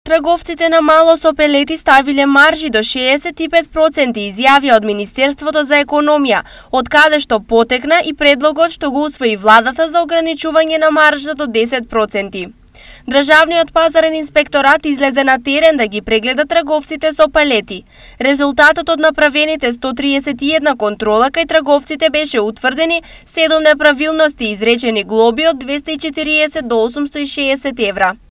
Трговците на мало со пелети ставиле маржи до 65%, изјавија од Министерството за економија, од каде што потекна и предлогот што го усвои владата за ограничување на маржа до 10%. Државниот пазарен инспекторат излезе на терен да ги прегледа трговците со пелети. Резултатот од направените 131 контрола кај трговците беше утврдени 7 неправилности и изречени глоби од 240 до 860 евра.